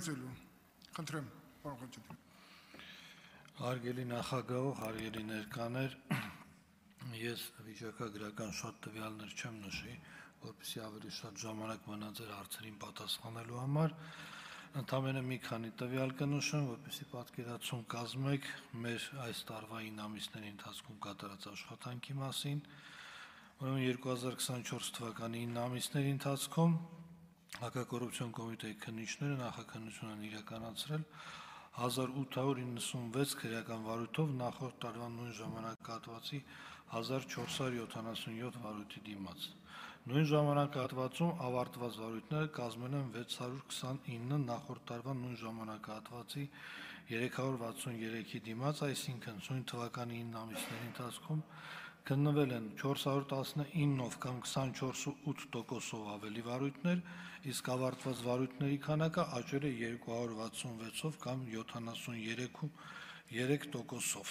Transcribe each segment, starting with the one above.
վերլուծելու։ Խնդրեմ, պարոն Խաչատրյան։ Հարգելի նախագահ, հարգելի ներկաներ, ես վիճակագրական շատ տվյալներ չեմ նշի, որպեսզի ավելի շատ ժամանակ մնա ձեր հարցերին պատասխանելու համար, ընդամենը մի քանի տվյալ կնշեմ, որպեսզի պատկերացում կազմեք մեր այս տարվա 9 ամիսների ընթացքում կատարած աշխատանքի մասին, ուրեմն 2024 թվականի 9 ամիսների ընթացքում Հակակոռուպցիոն կոմիտեի քննիչները նախաքննություն են իրականացրել 1896 քրեական վարույթով նախորդ տարվա նույն ժամանակահատվածի 1477 վարույթի դիմաց։ Նույն ժամանակահատվածում ավարտված վարույթները կազմել են 629 նախորդ տարվա նույն ժամանակահատվածի 363-ի դիմաց, այսինքն նույն թվականի 9 ամիսների ընթացքում գտնվել են 419-ով կամ 24.8%-ով ավելի վարույթներ, իսկ ավարտված վարույթների քանակը աճել է 266-ով կամ 73.3%-ով։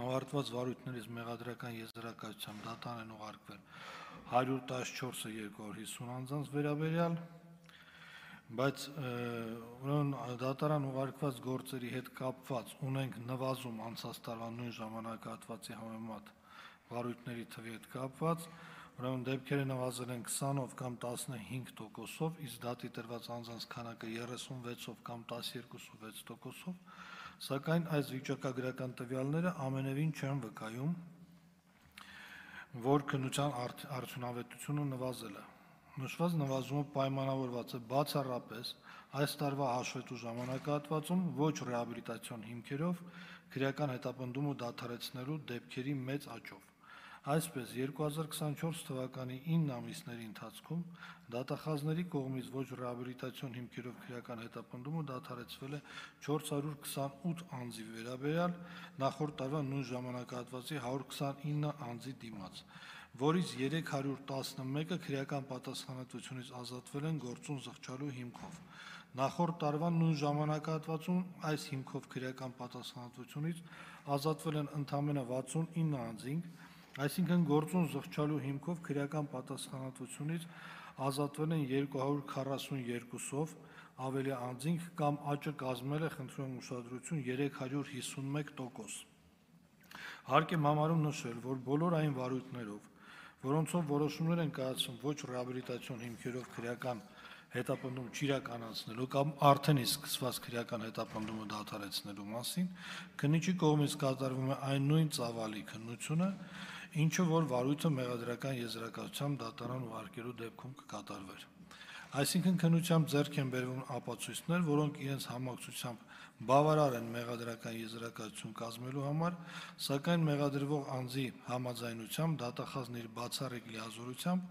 Ավարտված վարույթներից մեղադրական եզրակացությամբ դատան են ուղարկվել 114.250 անձանց վերաբերյալ, բայց դատարան ուղարկված գործերի հետ կապված ունենք նվազում անցած տարվա նույն ժամանակահատվածի համեմատ վարույթների թվի հետ կապված, ուրեմն դեպքերը նվազել են 20-ով կամ 15%-ով, իսկ դատի տրված անձանց քանակը 36-ով կամ 12.6%-ով, սակայն այս վիճակագրական տվյալները ամենևին չեն վկայում, որ քննության արդյունավետությունը նվազել է։ Նշված նվազումը պայմանավորված է բացառապես այս տարվա հաշվետու ժամանակահատվածում ոչ ռեաբիլիտացիոն հիմքերով քրեական հետապնդումը դադարեցնելու դեպքերի մեծ աճով։ Այսպես 2024 թվականի 9 ամիսների ընթացքում դատախազների կողմից ոչ ռեաբիլիտացիոն հիմքերով քրեական հետապնդումը դադարեցվել է 428 անձի վերաբերյալ նախորդ տարվա նույն ժամանակահատվածի 129 անձի դիմաց, որից 311-ը քրեական պատասխանատվությունից ազատվել են գործուն զղջալու հիմքով։ Նախորդ տարվա նույն ժամանակահատվածում այս հիմքով քրեական պատասխանատվությունից ազատվել են ընդամենը 69 անձինք, այսինքն գործուն զղջալու հիմքով քրեական պատասխանատվությունից ազատվել են 242-ով ավելի անձինք կամ աճը կազմել է, խնդրում եմ ուշադրություն, 351%։ Հարկ եմ համարում նշել, որ բոլոր այն վարույթներով, որոնցով որոշումներ են կայացվում ոչ ռեաբիլիտացիոն հիմքերով քրեական հետապնդում չիրականացնելու կամ արդեն իսկ սկսված քրեական հետապնդումը դադարեցնելու մասին, քննիչի կողմից կատարվում է այն նույն ծավալի քննությունը, ինչը որ վարույթը մեղադրական եզրակացությամբ դատարան ուղարկելու դեպքում կկատարվեր։ Այսինքն քննությամբ ձեռք են բերվում ապացույցներ, որոնք իրենց համակցությամբ բավարար են մեղադրական եզրակացություն կազմելու համար, սակայն մեղադրվող անձի համաձայնությամբ դատախազն իր բացառիկ լիազորությամբ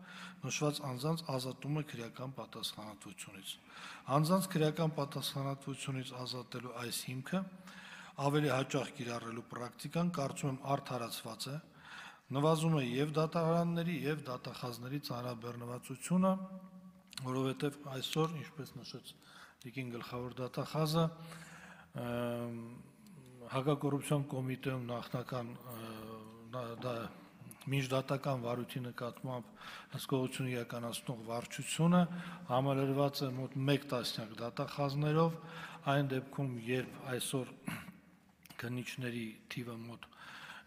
նշված անձանց ազատում է քրեական պատասխանատվությունից։ Անձանց քրեական պատասխանատվությունից ազատելու այս հիմքը ավելի հաճախ կիրառելու պրակտիկան կարծում եմ արդարացված է, նվազում է եւ դատարանների եւ դատախազների ծանրաբեռնվածությունը, որովհետեւ այսօր, ինչպես նշեց Տիկին գլխավոր դատախազը, Հակակոռուպցիոն կոմիտեում նախնական միջդատական վարույթի նկատմամբ հսկողություն իրականացնող վարչությունը համալրված է մոտ 1 տասնյակ դատախազներով, այն դեպքում, երբ այսօր քննիչների թիվը մոտ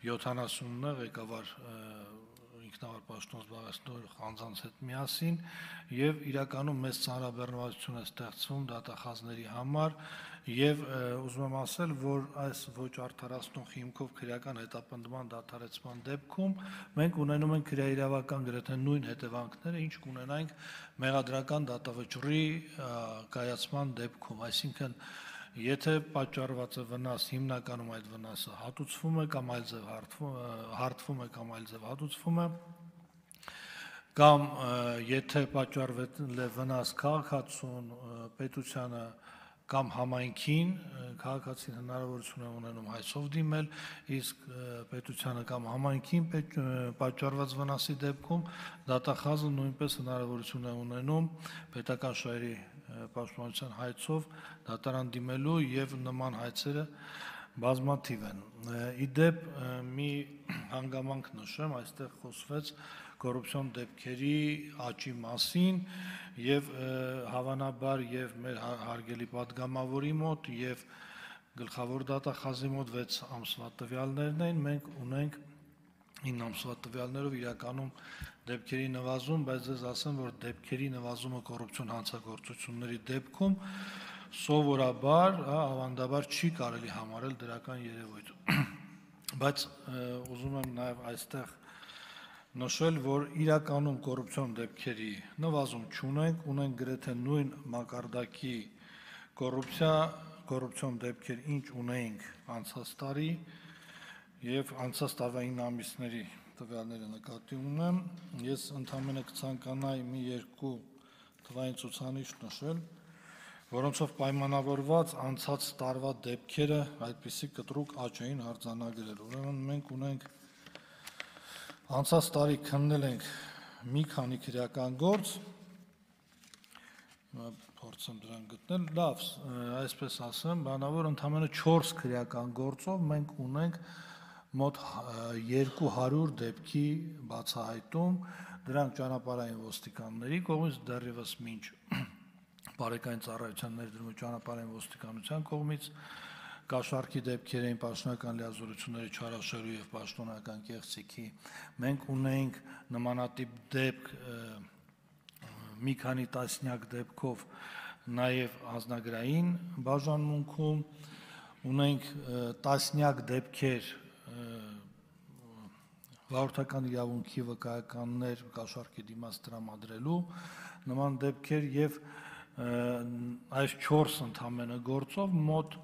70-ն է, ղեկավար ինքնավար պաշտոն զբաղեցնող անձանց հետ միասին, եւ իրականում մեծ ծանրաբեռնվածություն է ստեղծվում դատախազների համար, եւ ուզում եմ ասել, որ այս ոչ արդարացնող հիմքով քրեական հետապնդման դադարեցման դեպքում մենք ունենում ենք քրեաիրավական գրեթե նույն հետևանքները, ինչ կունենայինք մեղադրական դատավճռի կայացման դեպքում, այսինքն եթե պատճառված է վնաս, հիմնականում այդ վնասը հատուցվում է կամ այլ ձև հարթվում է կամ այլ ձև հատուցվում է, կամ եթե պատճառվել է վնաս քաղաքացուն, պետությանը կամ համայնքին, քաղաքացին հնարավորություն է ունենում հայցով դիմել, իսկ պետությանը կամ համայնքին պատճառված վնասի դեպքում դատախազը նույնպես հնարավորություն է ունենում պետական շահերի պաշտպանության հայցով դատարան դիմելու եւ նման հայցերը բազմաթիվ են։ Իդեպ մի հանգամանք նշեմ, այստեղ խոսվեց կոռուպցիոն դեպքերի աճի մասին եւ հավանաբար եւ մեր հարգելի падգամավորի մոտ եւ գլխավոր դատախազի մոտ 6 ամսվա տվյալներն են, մենք ունենք 9 ամսվա տվյալներով իրականում դեպքերի նվազում, բայց ես ասեմ, որ դեպքերի նվազումը կոռուպցիոն հանցագործությունների դեպքում սովորաբար, ավանդաբար չի կարելի համարել դրական երևույթ։ Բայց ուզում եմ նաև այստեղ նշել, որ իրականում կոռուպցիոն դեպքերի նվազում չունենք, ունենք գրեթե նույն մակարդակի կոռուպցիոն դեպքեր, ինչ ունեինք անցած տարի, եւ անցած տարվա 9 ամիսների տվյալները նկատի ունեմ, ես ընդհանրապես կցանկանայի մի երկու թվային ցուցանիշ նշել, որոնցով պայմանավորված անցած տարվա դեպքերը այդպիսի կտրուկ աճ էին արձանագրել։ Ուրեմն մենք ունենք անցած տարի քննել ենք մի քանի քրեական գործ, փորձեմ դրան գտնել, լավ, այսպես ասեմ, բանավոր ընդհանրապես 4 քրեական գործով մենք ունենք մոտ 200 դեպքի բացահայտում, դրանք ճանապարհային ոստիկանների կողմից դեռևս մինչ բարեկային ծառայության ներդրումը ճանապարհային ոստիկանության կողմից կաշառքի դեպքեր էին պաշտոնական լիազորությունների չարաշահելու եւ պաշտոնական կեղծիքի։ Մենք ունենք նմանատիպ դեպք մի քանի տասնյակ դեպքով նաեւ անձնագրային բաժանմունքում, ունենք տասնյակ դեպքեր վարորդական իրավունքի վկայականներ կաշառքի դիմաց տրամադրելու նման դեպքեր եւ այս 4 ընդամենը գործով մոտ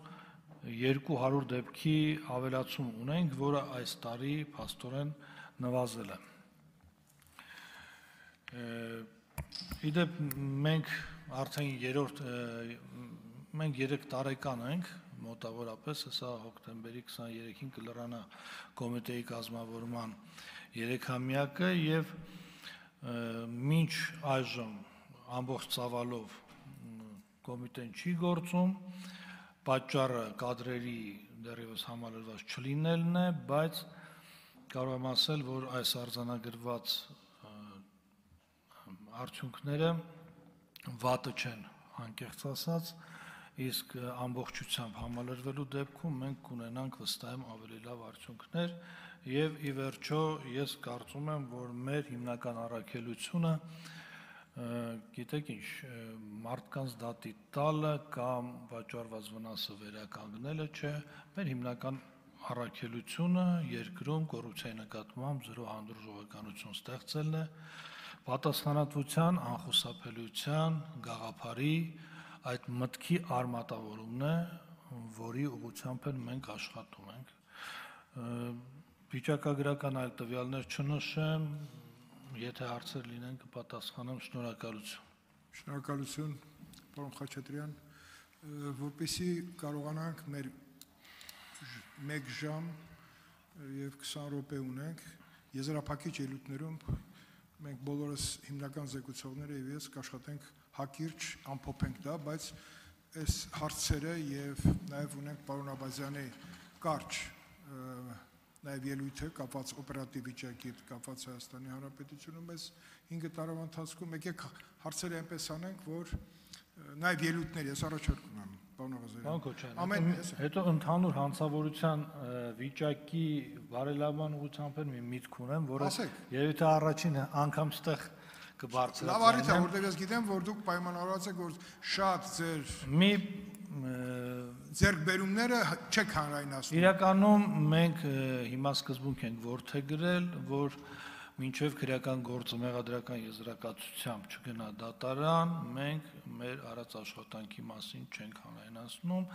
200 դեպքի ավելացում ունենք, որը այս տարի փաստորեն նվազել է։ Իդեպ մենք արդեն մենք 3 տարեկան ենք մոտավորապես, հեսա հոկտեմբերի 23-ին կլրանա կոմիտեի կազմավորման 3-ամյակը եւ մինչ այժմ ամբողջ ծավալով կոմիտեն չի գործում, պատճառը կադրերի դեռևս համալրված չլինելն է, բայց կարող եմ ասել, որ այս արձանագրված արդյունքները վատը չեն, անկեղծ ասած, իսկ ամբողջությամբ համալրվելու դեպքում մենք կունենանք վստահ եմ ավելի լավ արդյունքներ եւ ի վերջո ես կարծում եմ, որ մեր հիմնական առաքելությունը գիտեք ինչ, մարդկանց դատի տալը կամ վաճառված վնասը վերականգնելը չէ, մեր հիմնական առաքելությունը երկրում կոռուպցիայի նկատմամբ զրո հանդուրժողականություն ստեղծելն է, պատասխանատվության, անխուսափելիության, գաղափարի այդ մտքի արմատավորումն է, որի ուղղությամբ մենք աշխատում ենք։ Վիճակագրական այլ տվյալներ չնշեմ, եթե հարցեր լինեն կպատասխանեմ, շնորհակալություն։ Շնորհակալություն, պարոն Խաչատրյան, որպեսզի կարողանանք մեր 1 ժամ եւ 20 րոպե ունենք, եզրափակիչ ելույթներում մենք բոլորս հիմնական զեկուցողները եւ ես կաշխատենք հակիրճ ամփոփենք դա, բայց այս հարցերը եւ նաեւ ունենք պարոն Աբազյանի կարճ նաեւ ելույթը կապված օպերատիվ վիճակի հետ կապված Հայաստանի Հանրապետությունում այս 5 տարվա ընթացքում եկեք հարցերը այնպես անենք, որ նաեւ ելույթներ ես առաջարկում եմ պարոն Աբազյան։ Հետո ընդհանուր հանցավորության վիճակի բարելավման ուղղությամբ մի միտք ունեմ, որը երևի թե առաջին անգամ ստեղ կբարձրացնեմ։ Լավ արիթ է, որտեղ ես գիտեմ, որ դուք պայմանավորված եք, որ շատ ձեռքբերումները չեք հանրայնացնում։ Իրականում մենք հիմա սկզբունք ենք որդեգրել, որ մինչև քրեական գործը մեղադրական եզրակացությամբ չգնա դատարան, մենք մեր արած աշխատանքի մասին չենք հանրայնացնում,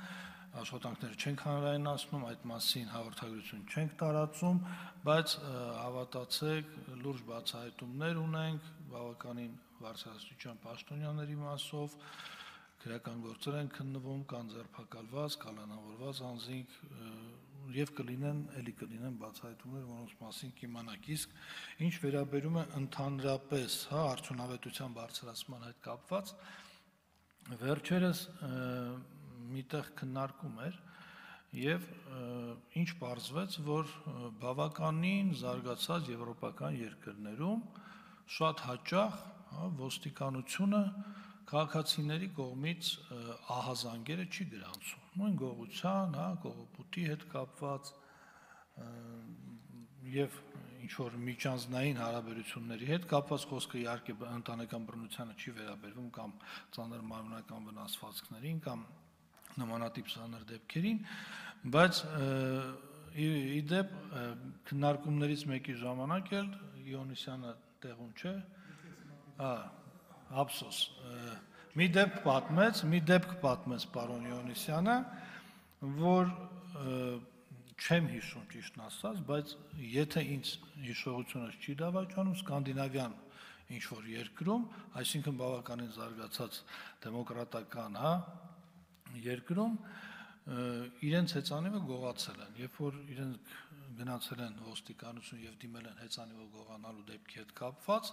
աշխատանքները չենք հանրայնացնում, այդ մասին հաղորդագրություն չենք տարածում, բայց հավատացեք, լուրջ բացահայտումներ ունենք, բավականին բարձրաստիճան պաշտոնյաների մասով, քրեական գործեր են քննվում, կան ձերբակալված, կալանավորված անձինք եւ կլինեն բացահայտումներ, որոնց մասին կիմանաք, իսկ ինչ վերաբերում է ընդհանրապես, արդյունավետության բարձրացման հետ կապված, վերջերս միտեղ քննարկում էր եւ ինչ պարզվեց, որ բավականին զարգացած եվրոպական երկրներում շատ հաճախ ոստիկանությունը քաղաքացիների կողմից ահազանգերը չի գրանցում։ Նույն գողության, կողոպուտի հետ կապված եւ ինչ որ միջանձնային հարաբերությունների հետ կապված խոսքը իհարկե ընտանեկան բռնությանը չի վերաբերվում կամ ծանր մարմնական վնասվածքներին կամ նմանատիպ ծանր դեպքերին, բայց ի դեպ քննարկումներից մեկի ժամանակ էլ Իոնիսյանը տեղում չէ, ափսոս, մի դեպք պատմեց պարոն Իոնիսյանը, որ չեմ հիշում ճիշտն ասած, բայց եթե ինձ հիշողությունս չի դավաճանում, սկանդինավյան ինչ-որ երկրում, այսինքն բավականին զարգացած դեմոկրատական երկրում, իրենց հեծանիվը գողացել են, երբ որ իրենք գնացել են ոստիկանություն եւ դիմել են հեծանիվը գողանալու դեպքի հետ կապված,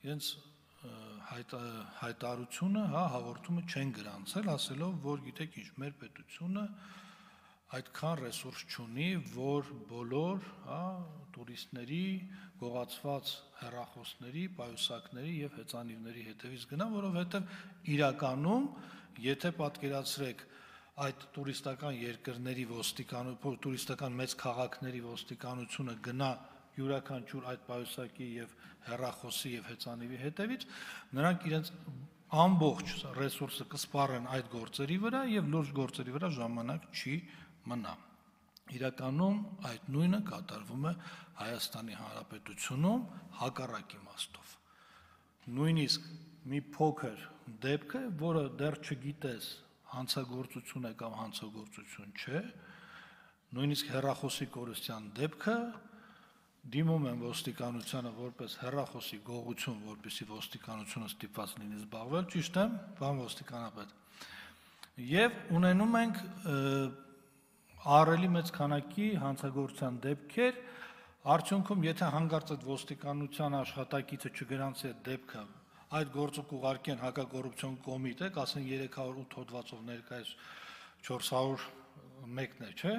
իրենց հայտարարությունը, հաղորդումը չեն գրանցել, ասելով, որ գիտեք ինչ, մեր պետությունը այդքան ռեսուրս չունի, որ բոլոր տուրիստների, գողացված հեռախոսների, պայուսակների եւ հեծանիվների հետևից գնա, որովհետեւ իրականում, եթե պատկերացրեք այդ տուրիստական երկրների տուրիստական մեծ քաղաքների ոստիկանությունը գնա յուրաքանչյուր այդ պայուսակի եւ հեռախոսի եւ հեծանիվի հետևից, նրանք իրենց ամբողջ ռեսուրսը կսպառեն այդ գործերի վրա եւ լուրջ գործերի վրա ժամանակ չի մնա։ Իրականում այդ նույնը կատարվում է Հայաստանի Հանրապետությունում հակառակ իմաստով։ Նույնիսկ մի փոքր դեպք է, որը դեռ չգիտես հանցագործություն է կամ հանցագործություն չէ, նույնիսկ հեռախոսի կորստյան դեպքը դիմում են ոստիկանությանը որպես հեռախոսի գողություն, որպեսզի ոստիկանությունը ստիպված լինի զբաղվել, ճիշտ եմ, պարոն ոստիկանապետ։ Եվ ունենում ենք ահռելի մեծ քանակի հանցագործության դեպքեր, արդյունքում եթե հանկարծ այդ ոստիկանության աշխատակիցը չգրանցի այդ դեպքը, այդ գործը կուղարկեն հակակոռուպցիոն կոմիտե, ասեն 308 հոդվածով ներկայիս 401-ն է, չէ՞,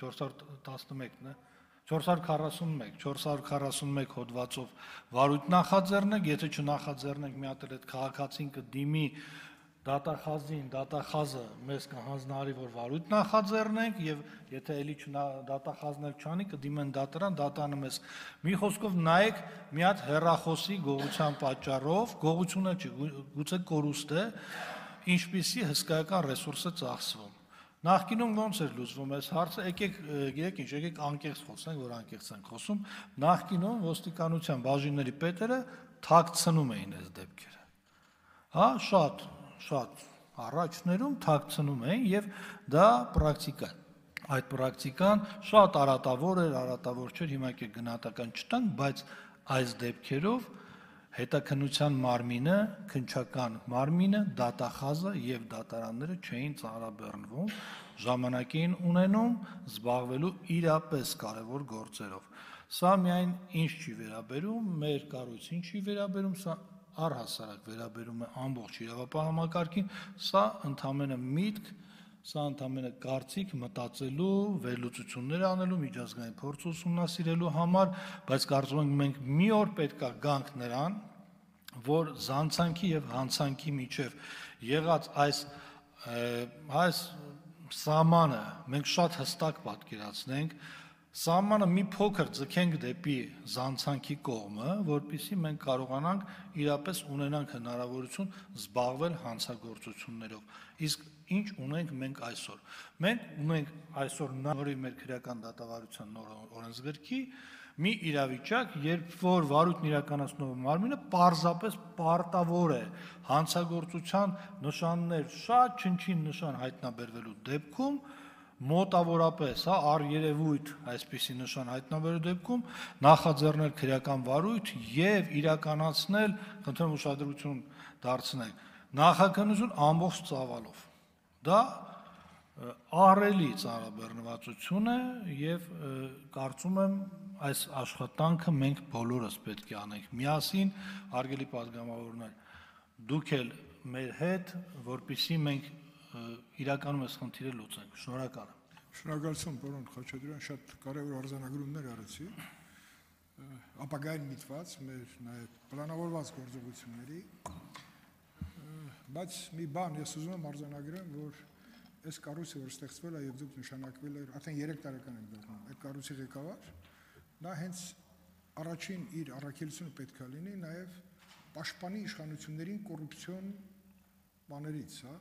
411-ն է, 441 հոդվածով վարույթ նախաձեռնենք, եթե չնախաձեռնենք, մի հատ էլ այդ քաղաքացին կդիմի դատախազին, դատախազը մեզ կհանձնարարի, որ վարույթ նախաձեռնենք, եւ եթե էլի դատախազն էլ չանի, կդիմեն դատարան, դատարանը մեզ մի խոսքով նայեք, մի հատ հեռախոսի գողության պատճառով, գողությունը չի, գուցե կորուստ է, ինչպիսի հսկայական ռեսուրս է ծախսվում։ Նախկինում ոնց էր լուծվում այս հարցը, եկեք անկեղծ խոսենք, որ անկեղծ ենք խոսում, նախկինում ոստիկանության բաժինների պետերը թաքցնում էին այս դեպքերը։ Շատ առաջներում թաքցնում էին եւ դա պրակտիկա է։ Այդ պրակտիկան շատ արատավոր չէր, հիմա գնահատական չտանք, բայց այս դեպքերով հետաքննության մարմինը, քննչական մարմինը, դատախազը եւ դատարանները չէին ծանրաբեռնվում, ժամանակ էին ունենում զբաղվելու իրապես կարևոր գործերով։ Սա միայն ինչ չի վերաբերում, մեր կառույցին չի վերաբերում, սա առհասարակ վերաբերում է ամբողջ իրավապահ համակարգին, սա ընդամենը միտք, սա ընդամենը կարծիք մտածելու, վերլուծություններ անելու, միջազգային փորձ ուսումնասիրելու համար, բայց կարծում ենք մենք մի օր պետք է գանք նրան, որ զանցանքի եւ հանցանքի միջև եղած այս սահմանը մենք շատ հստակ պատկերացնենք, սահմանը մի փոքր ձգենք դեպի զանցանքի կողմը, որպեսզի մենք կարողանանք իրապես ունենանք հնարավորություն զբաղվել հանցագործություններով։ Իսկ ինչ ունենք մենք այսօր։ Մենք ունենք այսօր նորի մեր քրեական դատավարության նոր օրենսգրքի մի իրավիճակ, երբ որ վարույթն իրականացնող մարմինը պարզապես պարտավոր է հանցագործության նշաններ, շատ չնչին նշան հայտնաբերվելու դեպքում մոտավորապես, առերևույթ այսպիսի նշան հայտնաբերելու դեպքում նախաձեռնել քրեական վարույթ եւ իրականացնել, խնդրեմ ուշադրություն դարձնեք, նախաքննություն ամբողջ ծավալով։ Դա ահռելի ծանրաբեռնվածություն է եւ կարծում եմ այս աշխատանքը մենք բոլորս պետք է անենք միասին, հարգելի պատգամավորներ, դուք էլ մեր հետ, որպեսզի մենք իրականում այս խնդիրը լուծենք։ Շնորհակալ եմ։ Շնորհակալություն, պարոն Խաչատրյան, շատ կարևոր արձանագրումներ արեցիք։ Ապագային միտված մեր նաեւ պլանավորված գործողությունների, բայց մի բան ես ուզում եմ արձանագրեմ, որ այս կառույցը, որ ստեղծվել է եւ դուք նշանակվել եք, արդեն 3 տարեկան եք դառնում, այդ կառույցի ղեկավար, նա հենց առաջին իր առաքելությունը պետք է լինի նաեւ պաշտպանի իշխանություններին կոռուպցիոն բաներից, հա,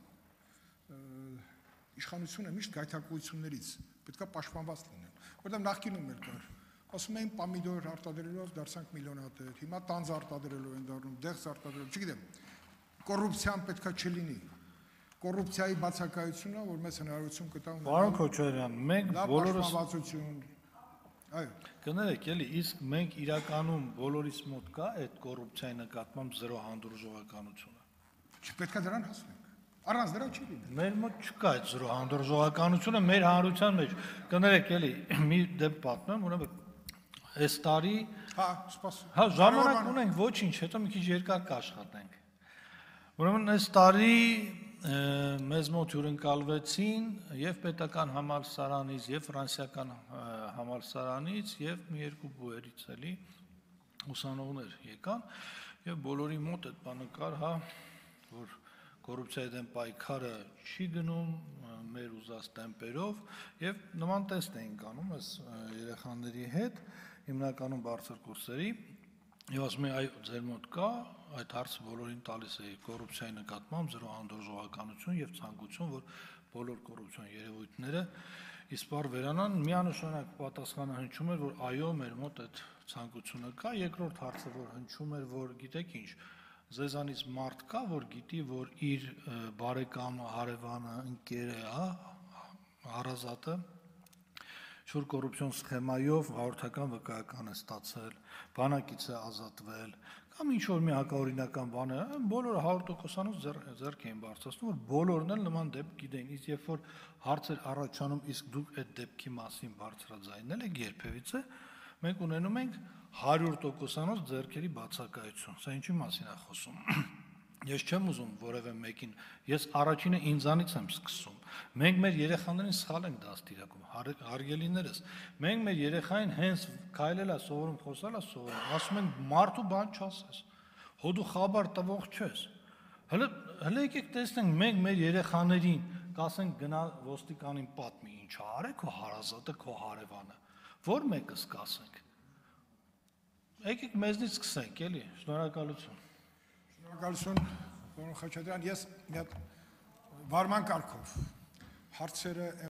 իշխանությունը միշտ գայթակղություններից պետք է պաշտպանված լինեն, որտեղ նախկինում էլ կար, ասում էին պամիդոր արտադրելով դարձանք միլիոնատեր, հիմա տանձ արտադրելով են դառնում, դեղս արտադրելով, չգիտեմ, կոռուպցիան պետք է չլինի, կոռուպցիայի բացակայությունը, որ մեզ հնարավորություն կտա ունենալ, Պարոն Քոչարյան, մենք բոլորս պաշտպանվածություն, այո, կներեք, էլի, իսկ մենք իրականում բոլորիս մոտ կա այդ կոռուպցիայի նկատմամբ զրո հանդուրժողականությունը։ չպետք է դրան հասնենք, առանց դրա չի լինի։ Մեր մոտ չկա այդ զրո հանդուրժողականությունը մեր հանրության մեջ։ Կներեք, էլի, մի դեպք պատմեմ, ուրեմն այս տարի Հա, սպասում։ հա ժամանակ ունենք, ոչինչ, հետո մի քիչ երկար կաշխատենք։ Ուրեմն այս տարի մեզ մոտ հյուրընկալվեցին եւ պետական համալսարանից եւ ֆրանսիական համալսարանից եւ մի երկու բուհերից էլի ուսանողներ եկան եւ բոլորի մոտ այդ բանը կար, հա, որ կոռուպցիայի դեմ պայքարը չի գնում մեր ուզած տեմպերով եւ նման տեստ էինք անում այս երեխաների հետ հիմնականում բարձր կուրսերի եւ ասում եմ այ ձեր մոտ կա այդ հարցը բոլորին տալիս է կոռուպցիայի նկատմամբ զրո հանդուրժողականություն եւ ցանկություն որ բոլոր կոռուպցիոն երևույթները իսպառ վերանան միանշանակ պատասխանը հնչում էր որ այո մեր մոտ այդ ցանկությունը կա երկրորդ հարցը որ հնչում էր որ գիտեք ինչ Ձեզանից մարդ կա, որ գիտի, որ իր բարեկամը, հարևանը, ընկերը, հա, հարազատը շուտ կոռուպցիոն սխեմայով հաղորդական վկայական է ստացել, բանակից է ազատվել, կամ ինչ որ մի հակաօրինական բան է, բոլորը 100%-անոց ձեռք էին բարձրացնում, որ բոլորն էլ նման դեպք գիտեն, իսկ երբ որ հարցեր առաջանում, իսկ դուք այդ դեպքի մասին բարձրաձայնել եք երբևիցե, մենք ունենում ենք 100%-անոց ձեռքերի բացակայություն։ Սա ինչի մասին է խոսում։ Ես չեմ ուզում որևէ մեկին, ես առաջինը ինձանից եմ սկսում։ Մենք մեր երեխաներին սխալ ենք դաստիարակում, հարգելիներս։ Մենք մեր երեխային հենց քայլելա սովորում, խոսալա սովորում, ասում ենք մարդու բան չասես։ Հոդու խաբար տվող չես։ Հələ եկեք տեսնենք մենք մեր երեխաներին կասենք գնա ոստիկանին պատմի ինչ արե քո հարազատը, քո հարևանը։ Որ մեկը կասենք։ Եկեք մեզնից սկսենք, էլի, շնորհակալություն։ Շնորհակալություն, պարոն Խաչատրյան, ես մի հատ վարման կարգով հարցերը